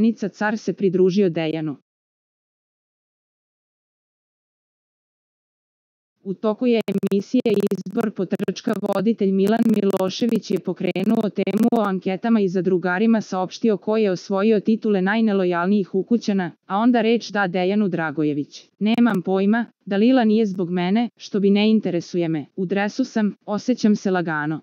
stepenica car se pridružio Dejanu. U toku je emisije Izbor potrčka voditelj Milan Milošević je pokrenuo temu o anketama i zadrugarima saopštio ko je osvojio titule najnelojalnijih ukućana, a onda reč da Dejanu Dragojević. Nemam pojma, Dalila nije zbog mene, što bi ne interesuje me, u dresu sam, osjećam se lagano.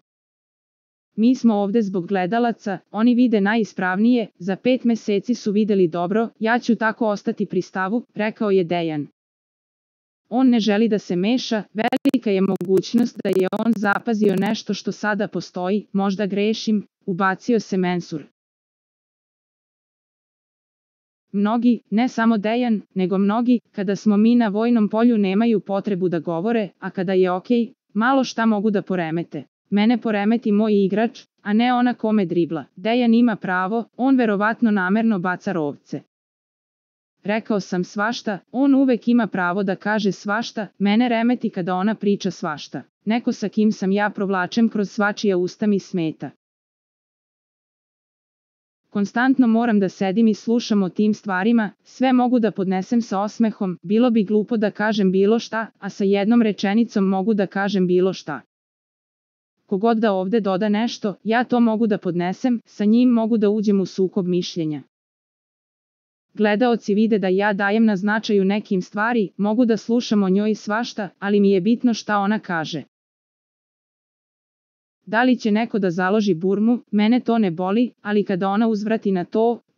Mi smo ovde zbog gledalaca, oni vide najispravnije, za 5 meseci su videli dobro, ja ću tako ostati pri stavu, rekao je Dejan. On ne želi da se meša, velika je mogućnost da je on zapazio nešto što sada postoji, možda grešim, ubacio se Mensur. Mnogi, ne samo Dejan, nego mnogi, kada smo mi na vojnom polju nemaju potrebu da govore, a kada je okej, malo šta mogu da poremete. Mene poremeti moj igrač, a ne ona kome dribla. Dejan ima pravo, on verovatno namerno baca rovce. Rekao sam svašta, on uvek ima pravo da kaže svašta, mene remeti kada ona priča svašta. Neko sa kim sam ja provlačem kroz svačija usta mi smeta. Konstantno moram da sedim i slušam o tim stvarima, sve mogu da podnesem sa osmehom, bilo bi glupo da kažem bilo šta, a sa jednom rečenicom mogu da kažem bilo šta. Kogod da ovde doda nešto, ja to mogu da podnesem, sa njim mogu da uđem u sukob mišljenja. Gledaoci vide da ja dajem na značaju nekim stvari, mogu da slušam o njoj svašta, ali mi je bitno šta ona kaže. Da li će neko da založi burmu, mene to ne boli, ali kada ona uzvrati na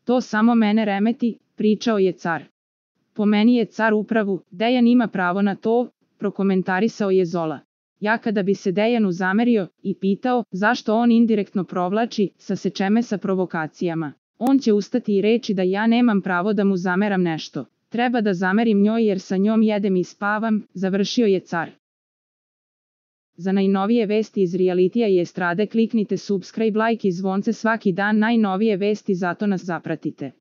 to samo mene remeti, pričao je car. Po meni je car u pravu, Dejan ima pravo na to, prokomentarisao je Zola. Ja kada bi se Dejanu zamerio i pitao zašto on indirektno provlači, saseče me sa provokacijama. On će ustati i reći da ja nemam pravo da mu zameram nešto. Treba da zamerim njoj jer sa njom jedem i spavam, završio je car. Za najnovije vesti iz realitija i estrade kliknite subscribe, like i zvonce svaki dan, najnovije vesti, zato nas zapratite.